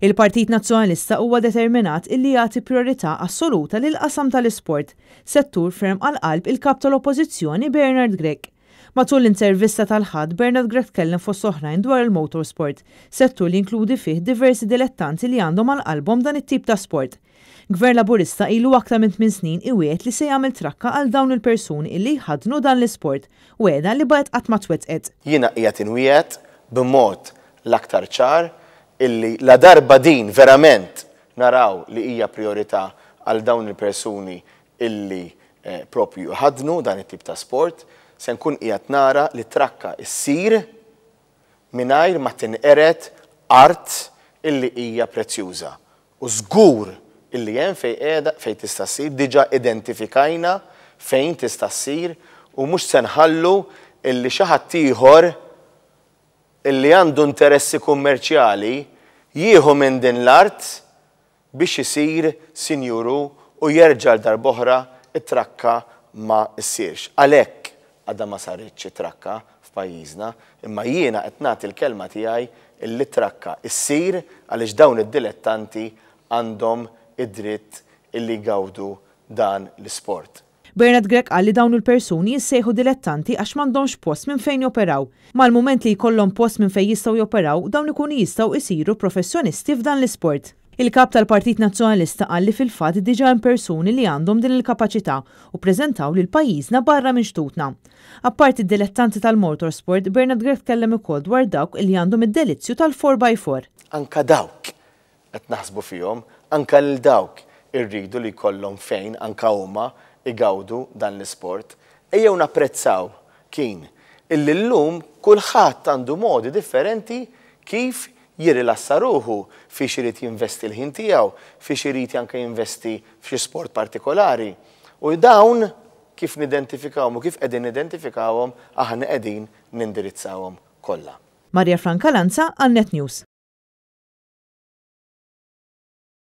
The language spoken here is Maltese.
Il-Partit Nazzjonalista huwa determinat illi jagħti prijorità assoluta lill-qasam tal-isport, settur ferm għal qalb il-Kap tal-Oppożizzjoni Bernard Grech. Matul l-intervista tal-Ħadd, Bernard Grech tkellem fost oħrajn dwar il-motorsport, settur li jinkludi fih diversi dilettanti li għandhom għal qalbhom dan it-tip ta' sport. Gvern Laburista ilu aktar minn tminn snin iwiegħed li se jagħmel trakka għal dawn il-persuni illi jħaddnu dan l-isport, wegħda li baqgħet qatt ma twettqet. Jiena qiegħed inwiegħed b'mod l-aktar ċar illi ladarba din verament naraw li hija prijorità għal dawn il-persuni illi proprju jħaddnu dan it-tip ta' sport, se nkun qiegħed nara li t-trakka ssir mingħajr ma tinqered art illi hija prezzjuża. U żgur illi hemm fejn qiegħda, fejn tista' ssir, diġà identifikajna fejn tista' ssir u mhux se nħallu illi xi ħadd ieħor illi għandu interessi kummerċjali jieħu minn din l-art biex isir sinjur hu u jerġa' għal darb'oħra t-trakka ma ssirx. Għalhekk għadha ma saritx it-trakka f'pajjiżna, imma jiena qed nagħti l-kelma tiegħi illi t-trakka ssir għaliex dawn id-dilettanti għandhom id-dritt illi jgawdu dan l-isport. Bernard Grech qal li dawn il-persuni jissejħu dilettanti għax m'għandhomx post minn fejn joperaw. Mal-mument li jkollhom post minn fejn jistgħu joperaw, dawn ikunu jistgħu jsiru professjonisti f'dan l-isport. Il-Kap tal-Partit Nazzjonalista qal li fil-fatt diġà hemm persuni li għandhom din il-kapaċità u ppreżentaw lil pajjiżna barra minn xtutna. Apparti d-dilettanti tal-motorsport, Bernard Grech tkellem ukoll dwar dawk li għandhom id-delizzju tal-four by four. Anke dawk qed naħsbu fihom, anke lil dawk irridu li jkollhom fejn anke huma jgawdu dan l-isport. Ejjew napprezzaw, Keen, illi llum kulħadd għandu modi differenti kif jirrilassa ruħu, fiex irid jinvesti l-ħin tiegħu, fiex irid anke jinvesti f'xi sport partikolari. U dawn kif nidentifikawhom u kif qegħdin nidentifikawhom aħna qegħdin nindirizzawhom kollha. Maria Franca Lanza għal Net News.